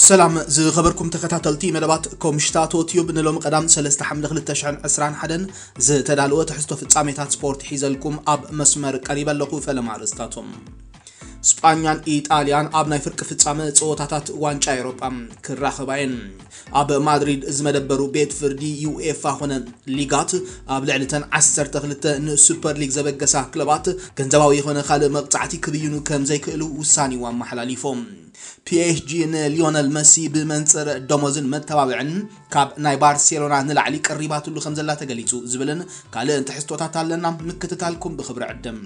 ሰላም ዝኸበርኩም ተኸታተልቲ መደባት ኮምሽታቶ ቲዩብ፣ ንሎሚ ቀዳም ሰለስተ ሓምለ ክልተ ሽሕን ዕስራን ሓደን ዝተዳለወ ትሕዝቶ ፍጻሜታት ስፖርት ሒዘልኩም ኣብ መስመር ቀሪበ ኣለኹ። ፈለማ ኣርእስታቶም። ስጳኛን ኢጣልያን ኣብ ናይ ፍርቂ ፍጻመ ጸወታታት ዋንጫ ኤውሮጳ ክራኸባ እየን። ኣብ ማድሪድ ዝመደበሩ ቤት ፍርዲ ዩኤፋ ኾነ ሊጋት ኣብ ልዕሊ ተን ዓሰርተ ክልተ ንሱፐር ሊግ ዘበገሳ ክለባት ገንዘባዊ ይኾነ ካልእ መቕጻዕቲ ክብይኑ ከም ዘይክእሉ ውሳኔኡ ኣመሓላሊፎም። ፒኤስጂ ንሊዮነል መሲ ብመንጽር ደሞዝን መተባብዕን ካብ ናይ ባርሴሎና ንላዕሊ ቀሪባትሉ ከም ዘላ ተገሊጹ ዝብልን ካልእን ትሕዝቶታት ኣለና። ምክትታልኩም ብኽብሪ ዕድም።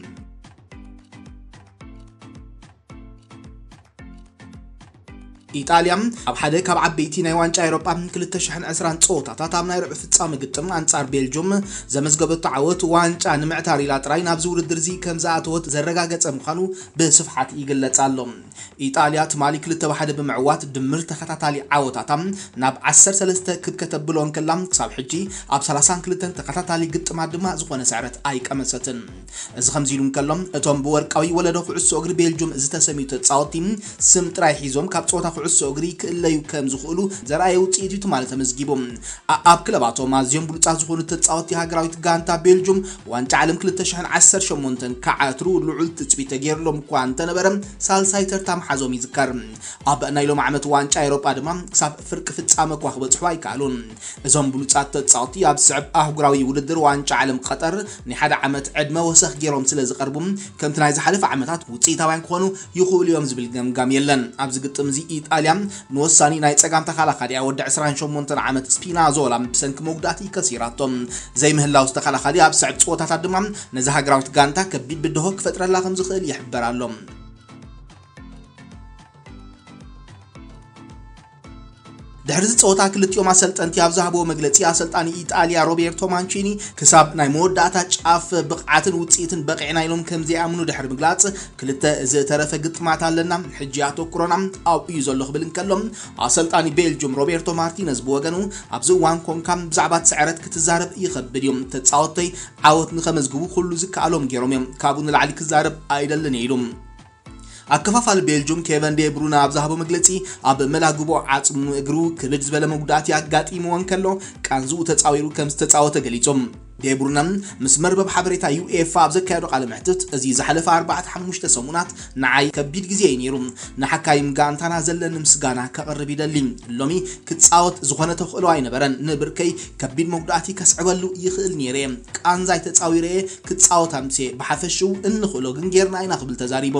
ኢጣልያ ኣብ ሓደ ካብ ዓበይቲ ናይ ዋንጫ ኤውሮጳ ክልተ ሽሕን ዕስራን ጸወታታት ኣብ ናይ ርብዒ ፍጻመ ግጥም ኣንጻር ቤልጁም ዘመዝገበቶ ዓወት ዋንጫ ንምዕታር ኢላ ጥራይ ናብዚ ውድድር እዚ ከም ዝኣተወት ዘረጋገጸ ምዃኑ ብስፍሓት ይግለጽ ኣሎ። ኢጣልያ ትማሊ ክልተ ብሓደ ብምዕዋት ድምር ተኸታታሊ ዓወታታ ናብ ዓሰርተ ሰለስተ ክብ ከተብሎ እንከላ ክሳብ ሕጂ ኣብ ሰላሳን ክልተን ተኸታታሊ ግጥማት ድማ ዝኾነ ስዕረት ኣይቀመሰትን። እዚ ከምዚ ኢሉ እንከሎ እቶም ብወርቃዊ ወለዶ ኩዕሶ እግሪ ቤልጁም ዝተሰምዩ ተጻወትቲ ስም ጥራይ ሒዞም ካብ ጸወታ ኩዕሶ እግሪ ክእለዩ ከም ዝኽእሉ ዘርኣየ ውጽኢት እዩ ትማሊ ተመዝጊቡ። ኣ- ኣብ ክለባቶም ኣዝዮም ብሉጻት ዝኾኑ ተጻወትቲ ሃገራዊት ጋንታ ቤልጁም ዋንጫ ዓለም ክልተ ሽሕን ዓሰርተ ሸሞንተን ክዓትሩ ልዑል ትጽቢት ተገይርሎም እኳ እንተነበረ ሳልሳይ ተርታ ምሓዞም ይዝከር። ኣብ ናይ ሎም ዓመት ዋንጫ ኤውሮጳ ድማ ክሳብ ፍርቂ ፍጻመ እኳ ክበጽሑ ኣይከኣሉን። እዞም ብሉጻት ተጻወትቲ ኣብ ዝስዕብ ኣህጉራዊ ውድድር ዋንጫ ዓለም ቀጠር ናይ ሓደ ዓመት ዕድመ ወሰኽ ገይሮም ስለ ዝቐርቡ ከምቲ ናይ ዝሓለፈ ዓመታት ውጽኢታውያን ክኾኑ ይኽእሉ እዮም ዝብል ገምጋም የለን። ኣብዚ ግጥም እዚ ኢጣልያ ንወሳኒ ናይ ጸጋም ተኸላኻሊኣ ወዲ ዕስራን ሸሞንተን ዓመት ስፒናዞላ ብሰንኪ መጉዳእቲ ከሲራቶ። ዘይምህላው ዝተኸላኻሊ ኣብ ዝስዕብ ጸወታታት ድማ ነዚ ሃገራዊት ጋንታ ከቢድ ብድሆ ክፈጥረላ ከም ዝኽእል ይሕበር ኣሎ። ድሕሪ እዚ ጸወታ ክልቲኦም ኣሰልጠንቲ ኣብ ዝሃብዎ መግለጺ ኣሰልጣኒ ኢጣልያ ሮቤርቶ ማንቺኒ ክሳብ ናይ መወዳእታ ጫፍ ብቕዓትን ውጽኢትን በቒዕና ኢሎም ከም ዘይኣምኑ ድሕሪ ምግላጽ ክልተ ዝተረፈ ግጥማት ኣለና፣ ሕጂ ኣተኩሮና ኣብኡ እዩ ዘሎ ክብል እንከሎ ኣሰልጣኒ ቤልጁም ሮቤርቶ ማርቲነዝ ብወገኑ ኣብዚ እዋን ኮንካ ብዛዕባ እቲ ስዕረት ክትዛረብ ይኸብድ እዩ። ተጻወተይ ዓወት ንኸመዝግቡ ኩሉ ዝከኣሎም ገይሮም እዮም። ካብኡ ንላዕሊ ክዛረብ ኣይደልን እየ ኢሉ። ኣከፋፋሊ ቤልጁም ኬቨን ዴ ብሩነ ኣብ ዝሃቦ መግለጺ ኣብ መላግቦ ዓጽሙ እግሩ ክብድ ዝበለ መጉዳእቲ ኣጋጢምዎ እንከሎ ቃንዝኡ ተጻዊሩ ከም ዝተጻወተ ገሊጹ። ዴ ብሩነ ምስ መርበብ ሓበሬታ ዩኤፋ ኣብ ዘካየዶ ቃለ መሕትት እዚ ዝሓለፈ ኣርባዕተ ሓሙሽተ ሰሙናት ንዓይ ከቢድ ግዜ እዩ ነይሩ። ንሓካይም ጋንታና ዘለኒ ምስጋና ከቕርብ ይደሊ። ሎሚ ክጻወት ዝኾነ ተኽእሎ ኣይነበረን። ንብርከይ ከቢድ መጉዳእቲ ከስዕበሉ ይኽእል ነይረ። ቃንዛይ ተጻዊረ ክጻወት ኣምሴ ብሓፈሽኡ እንኽእሎ ግን ጌርና ኢና ክብል ተዛሪቡ።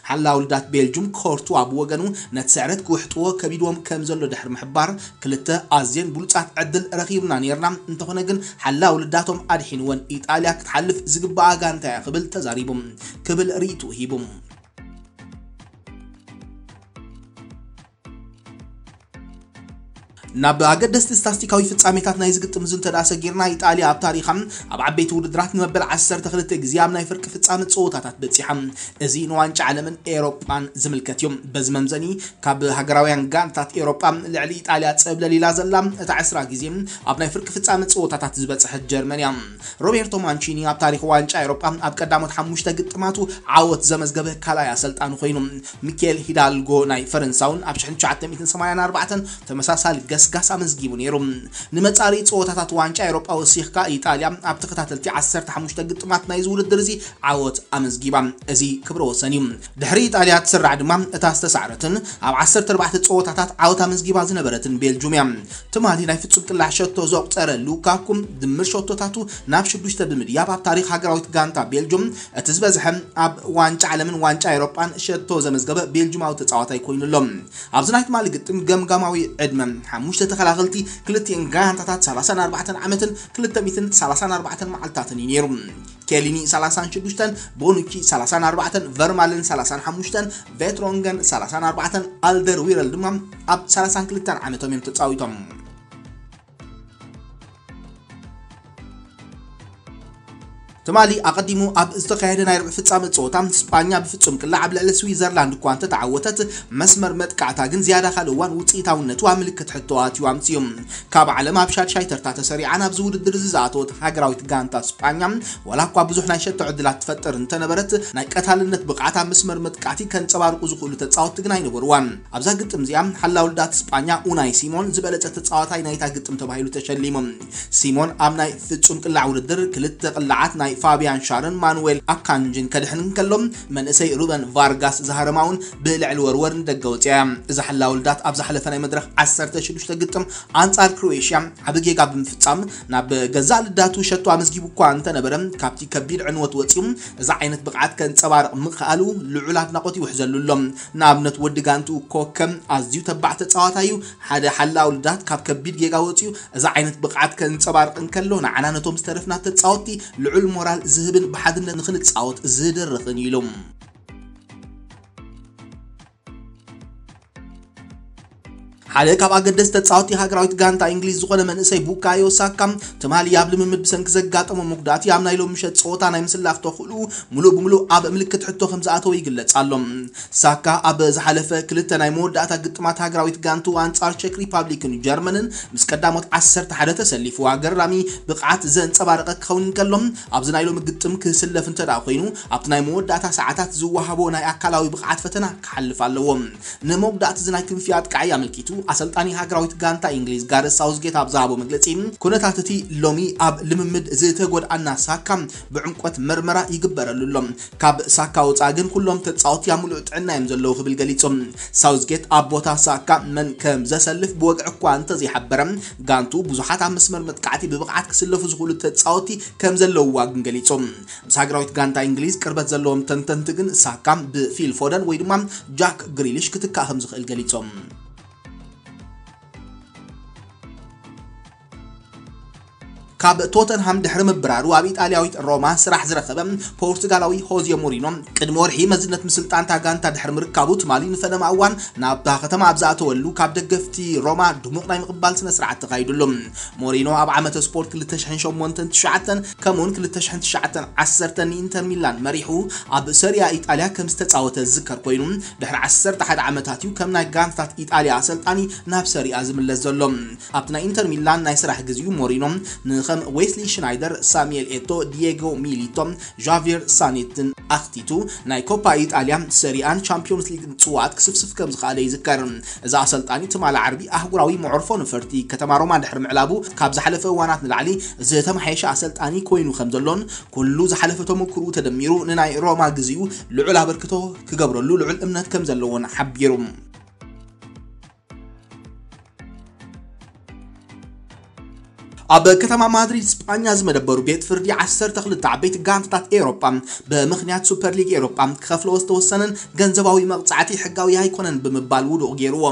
ሓላ ውልዳት ቤልጁም ኮርቱዋ ብወገኑ ነቲ ስዕረት ክውሕጥዎ ከቢድዎም ከም ዘሎ ድሕሪ ምሕባር ክልተ ኣዝየን ብሉጻት ዕድል ረኺብና ኔርና፣ እንተኾነ ግን ሓላ ውልዳቶም ኣድሒንወን። ኢጣልያ ክትሓልፍ ዝግባኣ ጋንታ እያ ክብል ተዛሪቡ ክብል ርእይትኡ ሂቡ። ናብ ኣገደስቲ ስታስቲካዊ ፍጻሜታት ናይ ዝግጥም እዚ እንተ ደኣ ሰጊርና፣ ኢጣልያ ኣብ ታሪኻ ኣብ ዓበይቲ ውድድራት ንመበል ዓሰርተ ክልተ ግዜ ኣብ ናይ ፍርቂ ፍጻመ ጸወታታት በጺሓ። እዚ ንዋንጫ ዓለምን ኤሮጳን ዝምልከት እዩ። በዚ መምዘኒ ካብ ሃገራውያን ጋንታት ኤሮጳ ልዕሊ ኢጣልያ ጸብለል ኢላ ዘላ እታ ዕስራ ግዜ ኣብ ናይ ፍርቂ ፍጻመ ጸወታታት ዝበጽሐት ጀርመን እያ። ሮቤርቶ ማንቺኒ ኣብ ታሪኽ ዋንጫ ኤሮጳ ኣብ ቀዳሞት ሓሙሽተ ግጥማቱ ዓወት ዘመዝገበ ካልኣይ ኣሰልጣኒ ኮይኑ። ሚኬል ሂዳልጎ ናይ ፈረንሳውን ኣብ ሽሕን ትሽዓተ ሚእትን ሰማንያን ኣርባዕተን ተመሳሳሊ ገስጋስ ኣመዝጊቡ ነይሩ። ንመጻሪ ጸወታታት ዋንጫ ኤውሮጳ ወሲኽካ ኢጣልያ ኣብ ተኸታተልቲ ዓሰርተ ሓሙሽተ ግጥማት ናይዚ ውድድር እዚ ዓወት ኣመዝጊባ። እዚ ክብረ ወሰን እዩ። ድሕሪ ኢጣልያ ትስራዕ ድማ እታ ዝተሳዕረትን ኣብ ዓሰርተ ኣርባዕተ ጸወታታት ዓወት ኣመዝጊባ ዝነበረትን ቤልጁም እያ። ትማሊ ናይ ፍጹም ቅላዕ ሸቶ ዘቑጸረ ሉካኩ ድምር ሸቶታቱ ናብ ሽዱሽተ ብምድያብ ኣብ ታሪኽ ሃገራዊት ጋንታ ቤልጁም እቲ ዝበዝሐ ኣብ ዋንጫ ዓለምን ዋንጫ ኤውሮጳን ሸቶ ዘመዝገበ ቤልጁማዊ ተጻዋታይ ኮይኑ ኣሎ። ኣብዚ ናይ ትማሊ ግጥም ገምጋማዊ ዕድመ ሓሙሽተ ተኸላኸልቲ ክልቲኤን ጋንታታት ሰላሳን ኣርባዕተን ዓመትን ክልተ ሚእትን ሰላሳን ኣርባዕተን መዓልታትን እዩ ነይሩ። ኬሊኒ ሰላሳን ሽዱሽተን፣ ቦኑቺ ሰላሳን ኣርባዕተን፣ ቨርማለን ሰላሳን ሓሙሽተን፣ ቬትሮንገን ሰላሳን ኣርባዕተን፣ ኣልደር ዊረል ድማ ኣብ ሰላሳን ክልተን ዓመቶም እዮም ተጻዊቶም። ትማሊ ኣቐዲሙ ኣብ ዝተኻየደ ናይ ርብዒ ፍጻመ ጸወታ፣ ስጳኛ ብፍጹም ቅላዕ ኣብ ልዕሊ ስዊዘርላንድ እኳ እንተተዓወተት፣ መስመር መጥቃዕታ ግን ዝያዳ ካልእ እዋን ውጽኢታውነቱ ኣብ ምልክት ሕቶ ኣትዩ ኣምጺኡ። ካብ ዓለም ኣብ ሻድሻይ ተርታ ተሰሪዓ ናብዚ ውድድር እዚ ዝኣተወት ሃገራዊት ጋንታ ስጳኛ፣ ዋላ እኳ ብዙሕ ናይ ሸቶ ዕድላት ትፈጥር እንተነበረት፣ ናይ ቀታልነት ብቕዓት ኣብ መስመር መጥቃዕቲ ከንጸባርቑ ዝኽእሉ ተጻወትቲ ግን ኣይነበርዋን። ኣብዛ ግጥም እዚኣ፣ ሓላው ልዳት ስጳኛ ኡናይ ሲሞን ዝበለጸ ተጻዋታይ ናይታ ግጥም ተባሂሉ ተሸሊሙ። ሲሞን ኣብ ናይ ፍጹም ቅላዕ ውድድር ክልተ ቅላዓት ናይ ፋቢያን ሻርን ማኑዌል ኣካንጅን ከድሕን እንከሎ፣ መንእሰይ ሩበን ቫርጋስ ዝሃረማ እውን ብልዕሊ ወርወር ንደገ ወጽያ እያ። እዛ ሓላው ልዳት ኣብ ዝሓለፈ ናይ መድረኽ ዓሰርተ ሽዱሽተ ግጥም ኣንጻር ክሮኤሽያ ዓቢ ጌጋ ብምፍጻም ናብ ገዛእ ልዳቱ ሸቶ ኣመዝጊቡ እኳ እንተነበረ፣ ካብቲ ከቢድ ዕንወት ወጺኡ እዛ ዓይነት ብቕዓት ከንጸባርቕ ምኽኣሉ ልዑል ኣድናቖት ይውሕዘሉ ኣሎ። ንኣብነት ወዲ ጋንትኡ ኮከ ኣዝዩ ተባዕ ተጻዋታይ እዩ። ሓደ ሓላው ልዳት ካብ ከቢድ ጌጋ ወጺኡ እዛ ዓይነት ብቕዓት ከንጸባርቕ እንከሎ፣ ንዓና ነቶም ዝተረፍና ተጻወትቲ ልዑል ሞራል ዝህብን ብሓድነት ንኽንጻወት ዝድርኽን እዩ ኢሉ። ሓደ ካብ ኣገደስቲ ተጻወትቲ ሃገራዊት ጋንታ እንግሊዝ ዝኾነ መንእሰይ ቡካዮ ሳካ፣ ትማሊ ኣብ ልምምድ ብሰንኪ ዘጋጠሞ መጉዳእቲ ኣብ ናይ ሎሚ ምሸት ጸወታ ናይ ምስላፍ ተኽእልኡ ምሉእ ብምሉእ ኣብ ምልክት ሕቶ ከም ዝኣተወ ይግለጽ ኣሎ። ሳካ ኣብ ዝሓለፈ ክልተ ናይ መወዳእታ ግጥማት ሃገራዊት ጋንቱ ኣንጻር ቸክ ሪፓብሊክን ጀርመንን ምስ ቀዳሞት ዓሰርተ ሓደ ተሰሊፉ ኣገራሚ ብቕዓት ዘንጸባረቐ ክኸውን እንከሎ፣ ኣብዚ ናይ ሎሚ ግጥም ክስለፍ እንተ ደኣ ኮይኑ፣ ኣብቲ ናይ መወዳእታ ሰዓታት ዝወሃቦ ናይ ኣካላዊ ብቕዓት ፈተና ክሓልፍ ኣለዎ። ንመጉዳእቲ እዚ ናይ ክንፊ ኣጥቃዓይ ኣመልኪቱ፣ ኣሰልጣኒ ሃገራዊት ጋንታ እንግሊዝ ጋረስ ሳውዝጌት ኣብ ዝሃቦ መግለጺ፣ ኩነታት እቲ ሎሚ ኣብ ልምምድ ዝተጎድኣና ሳካ ብዕምቆት መርመራ ይግበረሉ ኣሎ። ካብ ሳካ ወጻኢ ግን ኩሎም ተጻወትቲ ኣብ ምሉእ ጥዕና እዮም ዘለዉ ክብል ገሊጹ። ሳውዝጌት ኣብ ቦታ ሳካ መን ከም ዘሰልፍ ብወግዒ እኳ እንተዘይሓበረ፣ ጋንቱ ብዙሓት ኣብ መስመር መጥቃዕቲ ብብቕዓት ክስለፉ ዝኽእሉ ተጻወትቲ ከም ዘለውዋ ግን ገሊጹ። ምስ ሃገራዊት ጋንታ እንግሊዝ ቅርበት ዘለዎም ተንተንቲ ግን ሳካ ብፊል ፎደን ወይ ድማ ጃክ ግሪሊሽ ክትካእ ከም ዝኽእል ገሊጾም። ካብ ቶተንሃም ድሕሪ ምብራሩ ኣብ ኢጣልያዊት ሮማ ስራሕ ዝረኸበ ፖርቱጋላዊ ሆዜ ሞሪኖ፣ ቅድሚ ወርሒ መዝነት ምስልጣን እታ ጋንታ ድሕሪ ምርካቡ፣ ትማሊ ንፈለማ እዋን ናብታ ከተማ ኣብ ዝኣተወሉ፣ ካብ ደገፍቲ ሮማ ድሙቕ ናይ ምቕባል ስነ ስርዓት ተኻይዱሉ። ሞሪኖ ኣብ ዓመተ ስፖርት ክልተ ሽሕን ሸሞንተን ትሽዓተን ከምኡውን ክልተ ሽሕን ትሽዓተን ዓሰርተን ንኢንተር ሚላን መሪሑ ኣብ ሰሪያ ኢጣልያ ከም ዝተጻወተ ዝዝከር ኮይኑ፣ ድሕሪ ዓሰርተ ሓደ ዓመታት እዩ ከም ናይ ጋንታታት ኢጣልያ ኣሰልጣኒ ናብ ሰሪያ ዝምለስ ዘሎ። ኣብቲ ናይ ኢንተር ሚላን ናይ ስራሕ ግዜኡ፣ ሞሪኖ ንኸም ዌስሊ ሽናይደር፣ ሳሙኤል ኤቶ፣ ዲየጎ ሚሊቶ፣ ዣቪየር ሳኔትን ኣኽቲቱ፣ ናይ ኮፓ ኢጣልያ፣ ሰሪኣን ቻምፒዮንስ ሊግን ጽዋኣት ክስፍስፍ ከም ዝኸኣለ ይዝከር። እዚ ኣሰልጣኒ ትማሊ ዓርቢ ኣህጉራዊ መዕርፎ ነፈርቲ ከተማ ሮማ ድሕሪ ምዕላቡ፣ ካብ ዝሓለፈ እዋናት ንላዕሊ ዝተመሓየሸ ኣሰልጣኒ ኮይኑ ከም ዘሎን፣ ኩሉ ዝሓለፈ ተመክርኡ ተደሚሩ ንናይ ሮማ ግዜኡ ልዑል ኣበርክቶ ክገብረሉ ልዑል እምነት ከም ዘለዎን ሓቢሩ። ኣብ ከተማ ማድሪድ ስጳኛ ዝመደበሩ ቤት ፍርዲ ዓሰርተ ክልተ ዓበይቲ ጋንታታት ኤውሮጳ፣ ብምኽንያት ሱፐር ሊግ ኤውሮጳ ክኸፍልዎ ዝተወሰነን ገንዘባዊ መቕጻዕቲ ሕጋዊ ኣይኮነን ብምባል ውዱቕ ገይርዎ።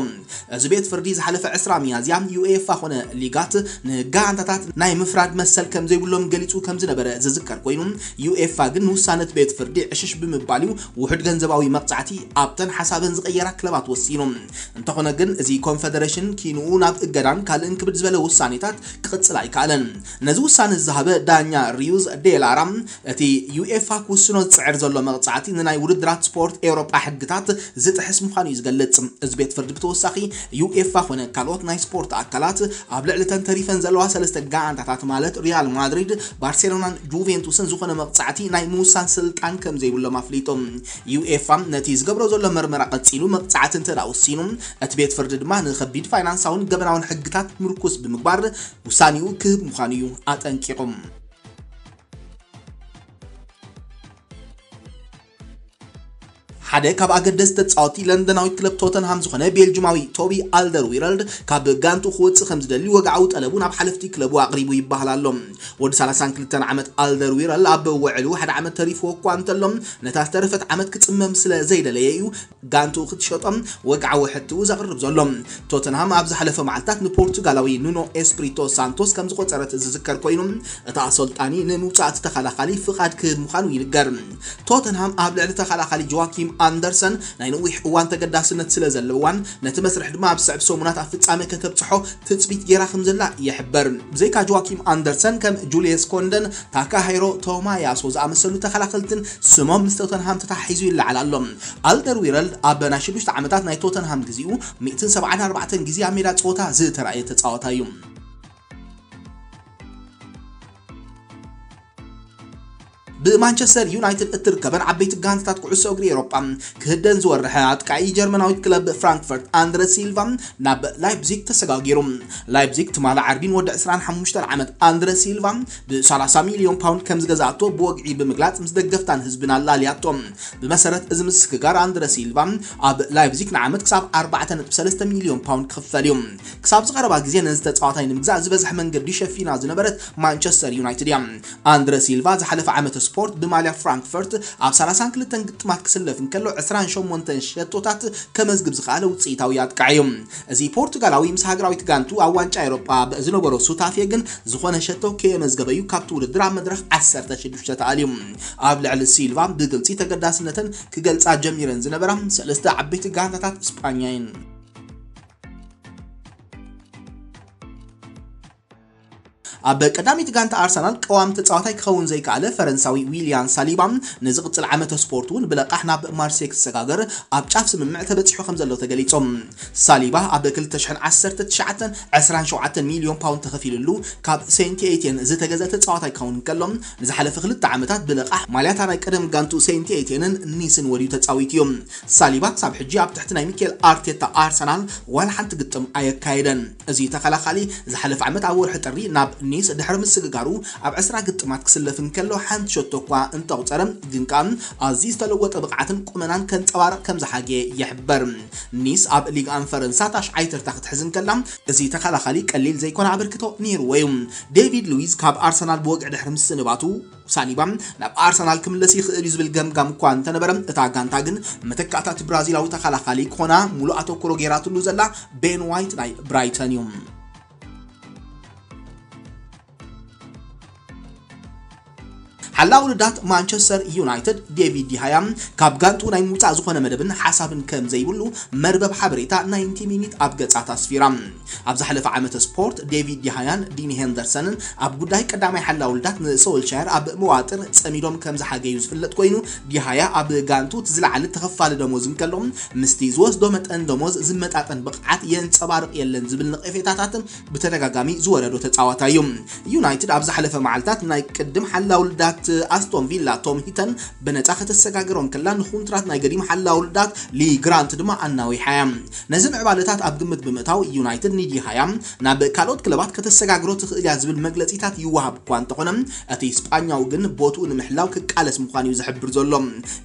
እዚ ቤት ፍርዲ ዝሓለፈ ዕስራ ሚያዝያ፣ ዩኤፋ ኮነ ሊጋት ንጋንታታት ናይ ምፍራድ መሰል ከም ዘይብሎም ገሊጹ ከም ዝነበረ ዝዝከር ኮይኑ፣ ዩኤፋ ግን ንውሳነ እቲ ቤት ፍርዲ ዕሽሽ ብምባል እዩ ውሑድ ገንዘባዊ መቕጻዕቲ ኣብተን ሓሳበን ዝቐየራ ክለባት ወሲኑ። እንተኾነ ግን፣ እዚ ኮንፈደሬሽን ኪንኡ ናብ እገዳን ካልእን ክብድ ዝበለ ውሳኔታት ክቕጽል ኣይከኣለን። ነዚ ውሳነ ዝሃበ ዳኛ ሪዩዝ ዴላራ፣ እቲ ዩኤፋ ክውስኖ ዝጽዕር ዘሎ መቕጻዕቲ ንናይ ውድድራት ስፖርት ኤውሮጳ ሕግታት ዝጥሕስ ምዃኑ እዩ ዝገልጽ። እዚ ቤት ፍርዲ ብተወሳኺ፣ ዩኤፋ ኮነ ካልኦት ናይ ስፖርት ኣካላት ኣብ ልዕሊ ተን ተሪፈን ዘለዋ ሰለስተ ጋንታታት፣ ማለት ሪያል ማድሪድ፣ ባርሴሎናን ጁቬንቱስን፣ ዝኾነ መቕጻዕቲ ናይ ምውሳን ስልጣን ከም ዘይብሎም ኣፍሊጡ። ዩኤፋ ነቲ ዝገብሮ ዘሎ መርመራ ቀጺሉ፣ መቕጻዕቲ እንተ ደኣ ወሲኑ፣ እቲ ቤት ፍርዲ ድማ ንኸቢድ ፋይናንሳውን ገበናውን ሕግታት ምርኩስ ብምግባር ውሳኔኡ ክህብ ምዃኑ እዩ ኣጠንቂቑ። ሓደ ካብ ኣገደስቲ ተጻወቲ ለንደናዊት ክለብ ቶተንሃም ዝኾነ ቤልጅማዊ ቶቢ ኣልደርዊረልድ፣ ካብ ጋንቱ ክወጽእ ከም ዝደሊ ወግዓዊ ጠለቡ ናብ ሓለፍቲ ክለቡ ኣቕሪቡ ይበሃል ኣሎ። ወዲ ሰላሳን ክልተን ዓመት ኣልደርዊረል ኣብ ውዕሉ ሓደ ዓመት ተሪፍዎ እኳ እንተሎ፣ ነታ ዝተረፈት ዓመት ክጽመም ስለ ዘይደለየ እዩ ጋንቱ ክትሸጦም ወግዓዊ ሕትኡ ዘቕርብ ዘሎ። ቶተንሃም ኣብ ዝሓለፈ መዓልታት ንፖርቱጋላዊ ኑኖ ኤስፕሪቶ ሳንቶስ ከም ዝቆጸረት ዝዝከር ኮይኑ፣ እቲ ኣሰልጣኒ ንምውጻእ እቲ ተኸላኻሊ ፍቓድ ክህብ ምዃኑ ይንገር። ቶተንሃም ኣብ ልዕሊ ተኸላኻሊ ጆዋኪም ኣንደርሰን ናይ ነዊሕ እዋን ተገዳስነት ስለ ዘለዋን ነቲ መስርሕ ድማ ኣብ ስዕብ ሰሙናት ኣብ ፍጻመ ከተብጽሖ ትጽቢት ገይራ ከም ዘላ ይሕበር። ብዘይካ ጆዋኪም ኣንደርሰን ከም ጁልየስ ኮንደን፣ ታካሃይሮ ቶማያሶ ዝኣመሰሉ ተኸላኸልትን ስሞም ምስ ቶተንሃም ተታሒዙ ይለዓል ኣሎ። ኣልደርዊረልድ ኣብ ናይ ሽዱሽተ ዓመታት ናይ ቶተንሃም ግዜኡ ሚእትን ሰብዓን ኣርባዕተን ግዜ ኣብ ሜዳ ጸወታ ዝተራእየ ተጻዋታይ እዩ። ብማንቸስተር ዩናይትድ እትርከበን ዓበይቲ ጋንታታት ኩዕሶ እግሪ ኤውሮጳ ክህደን ዝወረሐ ኣጥቃዒ ጀርመናዊት ክለብ ፍራንክፈርት ኣንድረ ሲልቫ ናብ ላይፕዚግ ተሰጋጊሩ። ላይፕዚግ ትማሊ ዓርቢ ንወዲ ዕስራን ሓሙሽተን ዓመት ኣንድረ ሲልቫ ብ30 ሚልዮን ፓውንድ ከም ዝገዛእቶ ብወግዒ ብምግላጽ ምስ ደገፍታን ህዝብን ኣላልያቶ። ብመሰረት እዚ ምስግጋር ኣንድረ ሲልቫ ኣብ ላይፕዚግ ንዓመት ክሳብ ኣርባዕተ ነጥቢ ሰለስተ ሚልዮን ፓውንድ ክኽፈል እዩ። ክሳብ ዝቐረባ ግዜ ነዚ ተጻዋታይ ንምግዛእ ዝበዝሐ መንገዲ ሸፊና ዝነበረት ማንቸስተር ዩናይትድ እያ። ኣንድረ ሲልቫ ዝሓለፈ ዓመተ ስፖርት ብማልያ ፍራንክፈርት ኣብ ሰላሳን ክልተን ግጥማት ክስለፍ እንከሎ ዕስራን ሸሞንተን ሸቶታት ከመዝግብ ዝኸኣለ ውጽኢታዊ ኣጥቃዒ እዩ። እዚ ፖርቱጋላዊ ምስ ሃገራዊት ጋንቱ ኣብ ዋንጫ ኤውሮጳ ዝነበሮ ሱታፌ ግን ዝኾነ ሸቶ ከየመዝገበ እዩ ካብቲ ውድድር ኣብ መድረኽ ዓሰርተ ሽዱሽተ ተኣልዩ። ኣብ ልዕሊ ሲልቫ ብግልጺ ተገዳስነተን ክገልጻ ጀሚረን ዝነበራ ሰለስተ ዓበይቲ ጋንታታት ስጳኛ እየን። ኣብ ቀዳሚት ጋንታ ኣርሰናል ቀዋሚ ተጻዋታይ ክኸውን ዘይከኣለ ፈረንሳዊ ዊልያን ሳሊባ ንዝቕጽል ዓመተ ስፖርት እውን ብለቓሕ ናብ ማርሴይ ክሰጋገር ኣብ ጫፍ ስምምዕ ተበጺሑ ከም ዘሎ ተገሊጹ። ሳሊባ ኣብ ክልተ ሽሕን ዓሰርተ ትሽዓተን ዕስራን ሸውዓተን ሚልዮን ፓውንድ ተኸፊሉሉ ካብ ሴንት ኤቲየን ዝተገዘ ተጻዋታይ ክኸውን እንከሎ፣ ንዝሓለፈ ክልተ ዓመታት ብለቓሕ ማልያታ ናይ ቀደም ጋንቱ ሴንት ኤቲየንን ኒስን ወድዩ ተጻዊቱ እዩ። ሳሊባ ክሳብ ሕጂ ኣብ ትሕቲ ናይ ሚኬል ኣርቴታ ኣርሰናል ዋላ ሓንቲ ግጥም ኣየካየደን። እዚ ተኸላኻሊ ዝሓለፈ ዓመት ኣብ ወርሒ ጥሪ ናብ ኒስ ድሕሪ ምስግጋሩ ኣብ ዕስራ ግጥማት ክስለፍ እንከሎ ሓንቲ ሸቶ እኳ እንተቑጸረ፣ ግን ከኣ ኣዝዩ ዝተለወጠ ብቕዓትን ቁመናን ከንጸባርቕ ከም ዝሓገየ ይሕበር። ኒስ ኣብ ሊግ ኣን ፈረንሳ ታሽዓይ ተርታ ክትሕዝ እንከላ፣ እዚ ተኸላኻሊ ቀሊል ዘይኮነ ኣበርክቶ ነይርዎ እዩ። ዴቪድ ሉዊዝ ካብ ኣርሰናል ብወግዒ ድሕሪ ምስንባቱ፣ ሳሊባ ናብ ኣርሰናል ክምለስ ይኽእል እዩ ዝብል ገምጋም እኳ እንተነበረ፣ እታ ጋንታ ግን መተካእታ እቲ ብራዚላዊ ተኸላኻሊ ክኾና ሙሉእ ኣተኩሮ ገይራትሉ ዘላ ቤን ዋይት ናይ ብራይተን እዩ። ሓላው ውድዳት ማንቸስተር ዩናይትድ ዴቪድ ዲሃያ ካብ ጋንቱ ናይ ምውፃእ ዝኾነ መደብን ሓሳብን ከም ዘይብሉ መርበብ ሓበሬታ ናይንቲ ሚኒት ኣብ ገጻት ኣስፊራ። ኣብ ዝሓለፈ ዓመተ ስፖርት ዴቪድ ዲሃያን ዲኒ ሄንደርሰንን ኣብ ጉዳይ ቀዳማይ ሓላው ውድዳት ንሶልሻየር ኣብ መዋጥር ጸሚዶም ከም ዝሓገዩ ዝፍለጥ ኮይኑ፣ ዲሃያ ኣብ ጋንቱ እቲ ዝለዓለ ተኸፋሊ ደሞዝ እንከሎ፣ ምስቲ ዝወስዶ መጠን ደሞዝ ዝመጣጠን ብቕዓት የንጸባርቕ የለን ዝብል ነቐፌታታት ብተደጋጋሚ ዝወረዶ ተጻዋታይ እዩ። ዩናይትድ ኣብ ዝሓለፈ መዓልታት ናይ ቅድም ሓላው ውድዳት ኣስቶን ቪላ ቶም ሂተን ብነጻ ከተሰጋግሮ እንከላ፣ ንኹንትራት ናይ ገዲም ሓላው ውድዳት ሊ ግራንት ድማ ኣናዊሓ እያ። ነዚ ምዕባለታት ኣብ ግምት ብምእታው፣ ዩናይትድ ንዲሃያ ናብ ካልኦት ክለባት ከተሰጋግሮ ትኽእል እያ ዝብል መግለጺታት ይወሃብ እኳ እንተኾነ፣ እቲ ስጳኛዊ ግን ቦትኡ ንምሕላው ክቃለስ ምዃኑ እዩ ዝሕብር ዘሎ።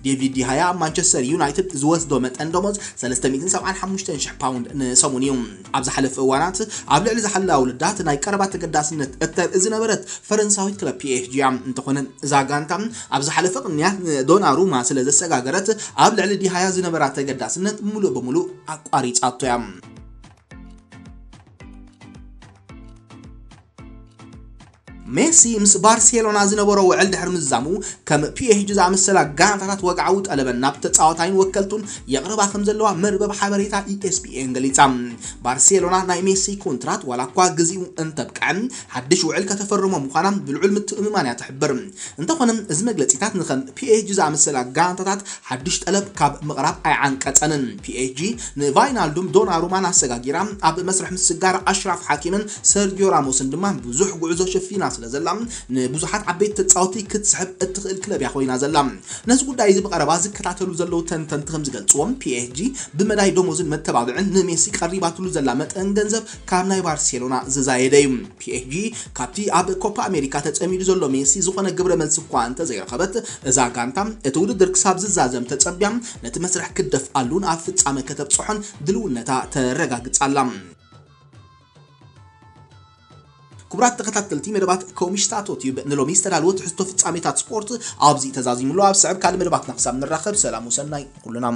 ዴቪድ ዲሃያ ኣብ ማንቸስተር ዩናይትድ ዝወስዶ መጠን ደሞዝ ሰለስተ ሚእትን ሰብዓን ሓሙሽተን ሽሕ ፓውንድ ንሰሙን እዩ። ኣብ ዝሓለፈ እዋናት ኣብ ልዕሊ ዝሓለዋ ውልዳት ናይ ቀረባ ተገዳስነት እተርኢ ዝነበረት ፈረንሳዊት ክለብ ፒ ኤስ ጂ እያ። እንተኾነ እዛ ጋንታ ኣብ ዝሓለፈ ቅንያት ንዶናሩማ ስለ ዘሰጋገረት ኣብ ልዕሊ ዲሃያ ዝነበራ ተገዳስነት ሙሉእ ብሙሉእ ኣቋሪጻቶ እያ። ሜሲ ምስ ባርሴሎና ዝነበሮ ውዕል ድሕሪ ምዝዛሙ፣ ከም ፒ ኤስ ጂ ዝኣመሰላ ጋንታታት ወግዓዊ ጠለበን ናብ ተጻዋታይን ወከልቱን የቕርባ ከም ዘለዋ መርበብ ሓበሬታ ኢ ኤስ ፒ ኤን ገሊጻ። ባርሴሎና ናይ ሜሲ ኮንትራት ዋላ እኳ ግዜኡ እንተብቅዐ፣ ሓድሽ ውዕል ከተፈርሞ ምዃና ብልዑል ምትእምማን እያ ትሕብር። እንተኾነ፣ እዚ መግለጺታት ንኸም ፒ ኤስ ጂ ዝኣመሰላ ጋንታታት ሓድሽ ጠለብ ካብ ምቕራብ ኣይዓንቀጸንን። ፒ ኤስ ጂ ንቫይናልዱም፣ ዶናሩማን ኣሰጋጊራ፣ ኣብ መስርሕ ምስጋር ኣሽራፍ ሓኪምን ሰርጊዮ ራሞስን ድማ ብዙሕ ጉዕዞ ሸፊና ስለ ዘላ፣ ንብዙሓት ዓበይቲ ተጻወቲ ክትስሕብ እትኽእል ክለብ እያ ኮይና ዘላ። ነዚ ጉዳይ እዚ ብቐረባ ዝከታተሉ ዘለዉ ተንተንቲ ከም ዝገልጽዎ፣ ፒ ኤስ ጂ ብመዳይ ደሞዝን መተባብዕን ንሜሲ ቀሪባትሉ ዘላ መጠን ገንዘብ ካብ ናይ ባርሴሎና ዝዛየደ እዩ። ፒ ኤስ ጂ ካብቲ ኣብ ኮፓ ኣሜሪካ ተጸሚዱ ዘሎ ሜሲ ዝኾነ ግብረ መልሲ እኳ እንተዘይረኸበት፣ እዛ ጋንታ እቲ ውድድር ክሳብ ዝዛዘም ተጸቢያ ነቲ መስርሕ ክትደፍኣሉን ኣብ ፍጻመ ከተብጽሖን ድልውነታ ተረጋግጻ ኣላ። ክቡራት ተኸታተልቲ መደባት ኮሚሽታቶ ቲዩብ፣ ንሎሚ ዝተዳለወ ትሕዝቶ ፍጻሜታት ስፖርት ኣብዚ ተዛዚሙሉ። ኣብ ስዕብ ካልእ መደባትና ክሳብ ንራኸብ፣ ሰላም ወሰናይ ኩልና።